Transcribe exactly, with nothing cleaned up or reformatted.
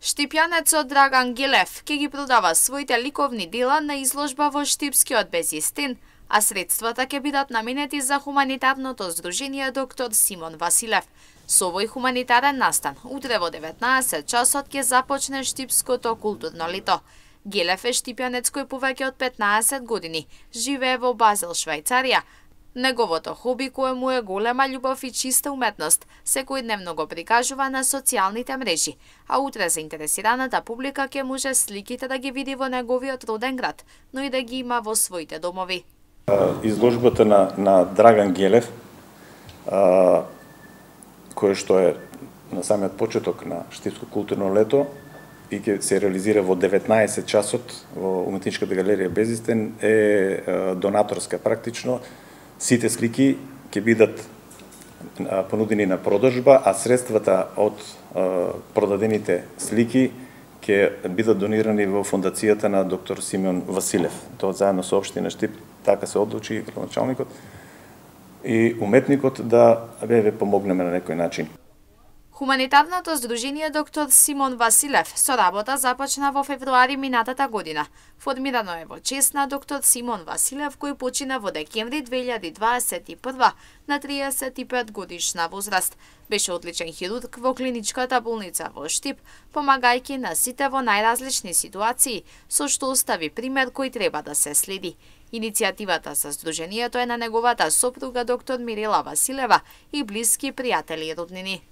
Штипјанецот Драган Гелев ќе ги продава своите ликовни дела на изложба во Штипскиот Безистин, а средствата ќе бидат наменети за хуманитарното здружение доктор Симон Василев. Со овој хуманитарен настан, утре во деветнаесет часот ќе започне Штипското културно лето. Гелев е штипјанец кој повеќе од петнаесет години живее во Базел, Швајцарија. Неговото хоби, кое му е голема љубов и чиста уметност, секојдневно го прикажува на социјалните мрежи, а утре заинтересираната публика ќе може сликите да ги види во неговиот роден град, но и да ги има во своите домови. Изложбата на, на Драган Гелев, а, кој што е на самиот почеток на Штипско културно лето и ќе се реализира во деветнаесет часот во Уметничката галерија Безистин, е донаторска практично. Сите слики ќе бидат понудени на продажба, а средствата од продадените слики ќе бидат донирани во фондацијата на доктор Симон Василев. Тоа заедно со општина Штип така се одлучи градоначалникот и уметникот да ве помогнеме на некој начин. Хуманитарното здружение доктор Симон Василев со работа започна во февруари минатата година. Формирано е во чест на доктор Симон Василев, кој почина во декември две илјади дваесет и прва на триесет и пет годишна возраст. Беше одличен хирург во клиничката болница во Штип, помагајќи на сите во најразлични ситуации, со што остави пример кој треба да се следи. Иницијативата за здружението е на неговата сопруга доктор Мирела Василева и блиски пријатели и роднини.